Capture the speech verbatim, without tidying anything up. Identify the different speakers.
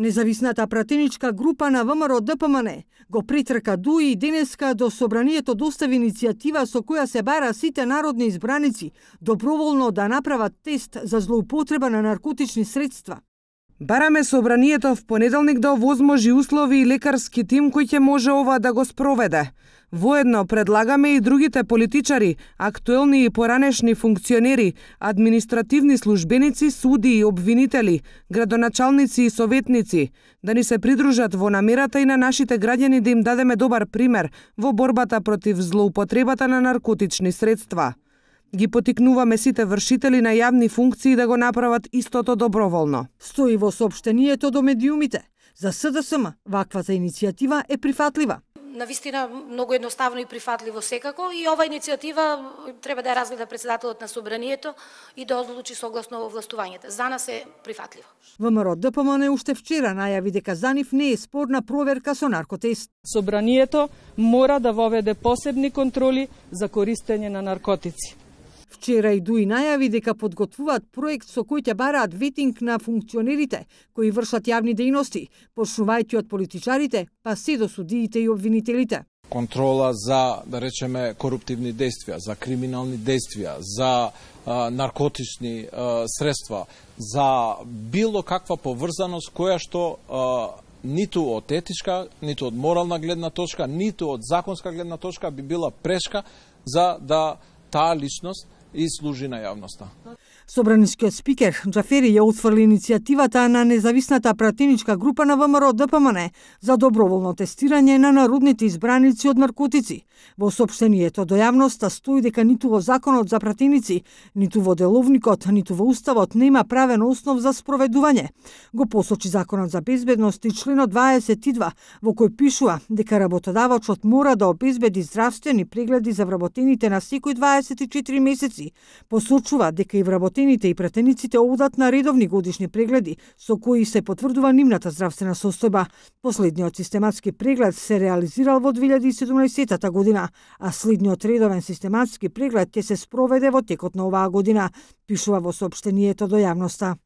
Speaker 1: Независната пратеничка група на ВМРО Д П М Н го притрка ДУИ и денеска до собранието достави иницијатива со која се бара сите народни избраници доброволно да направат тест за злоупотреба на наркотични средства.
Speaker 2: Бараме собранието в понеделник да овозможи услови и лекарски тим кој ќе може ова да го спроведе. Воедно предлагаме и другите политичари, актуелни и поранешни функционери, административни службеници, суди и обвинители, градоначалници и советници, да ни се придружат во намерата и на нашите граѓани да им дадеме добар пример во борбата против злоупотребата на наркотични средства. Ги потикнуваме сите вршители на јавни функции да го направат истото доброволно.
Speaker 1: Стои во соопштението до медиумите. За С Д С М ваквата иницијатива е прифатлива.
Speaker 3: Навистина многу едноставно и прифатливо секако, и ова иницијатива треба да ја разгледа председателот на собранието и да одлучи согласно овластувањата. За нас е прифатливо.
Speaker 1: ВМРО Д П М Н уште вчера најави дека за нив не е спорна проверка со наркотест.
Speaker 4: Собранието мора да воведе посебни контроли за користење на наркотици.
Speaker 1: Вчера и ДУИ најави дека подготвуваат проект со кој ќе бараат ветинг на функционерите кои вршат јавни дејности, почнувајќи од политичарите, па се до судиите и обвинителите.
Speaker 5: Контрола за, да речеме, коруптивни действија, за криминални действија, за а, наркотични а, средства, за било каква поврзаност која што а, ниту од етичка, ниту од морална гледна точка, ниту од законска гледна точка би била прешка за да таа личност и служи на јавноста.
Speaker 1: Собранискиот спикер Џафери ја утврли иницијативата на независната пратеничка група на ВМРО Д П М Н за доброволно тестирање на народните избраници од наркотици. Во соопштението до јавноста стои дека ниту во законот за пратеници, ниту во деловникот, ниту во уставот нема правен основ за спроведување. Го посочи законот за безбедност и членот дваесет и два, во кој пишува дека работодавачот мора да обезбеди здравствени прегледи за вработените на секој дваесет и четири месеци. Посочува дека и вработените и пратениците одат на редовни годишни прегледи со кои се потврдува нивната здравствена состојба. Последниот систематски преглед се реализирал во две илјади и седумнаесетта година, а следниот редовен систематски преглед ќе се спроведе во текот на оваа година, пишува во соопштението до јавноста.